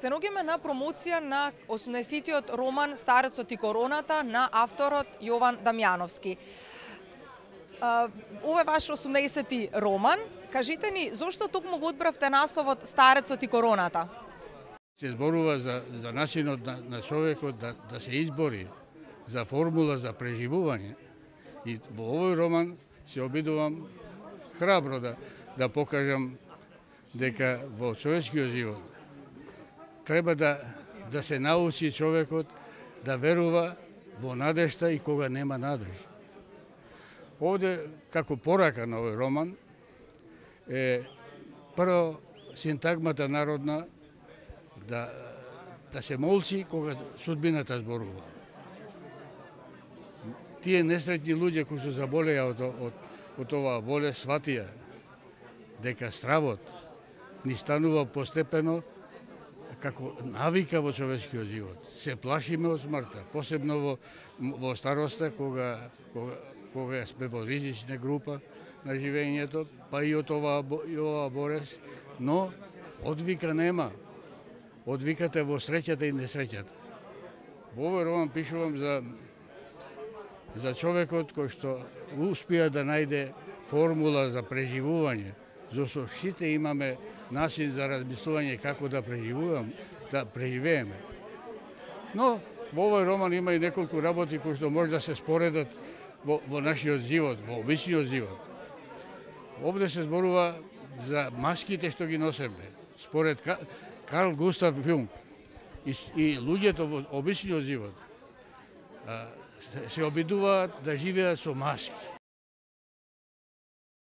Се наоѓаме на промоција на 80-тиот роман Старецот и короната на авторот Јован Дамјановски. Ова е ваш 80-ти роман. Кажете ни, зошто токму го одбравте насловот Старецот и короната? Се зборува за начинот на човекот да се избори, за формула за преживување. И во овој роман се обидувам храбро да покажам дека во човечкиот живот треба да се научи човекот да верува во надежта и кога нема надеж. Овде, како порака на овој роман, е прво синтагмата народна да се молчи кога судбината зборува. Тие несретни луѓе кои се заболеа од оваа болест сватија дека стравот ни станува постепено како навика во човечкиот живот. Се плашиме од смртта, посебно во староста, кога сме во ризична група на живењето, па и од оваа болест, но одвика нема. Одвиката во среќата и несреќата. Во овој роман пишувам за човекот кој што успеа да најде формула за преживување. Зашто сите имаме начин за размислување како да преживееме. Но во овој роман има и неколку работи кои што може да се споредат во нашиот живот, во обичниот живот. Овде се зборува за маските што ги носиме. Според Карл Густав Јунг и луѓето во обичниот живот се обидуваат да живеат со маски.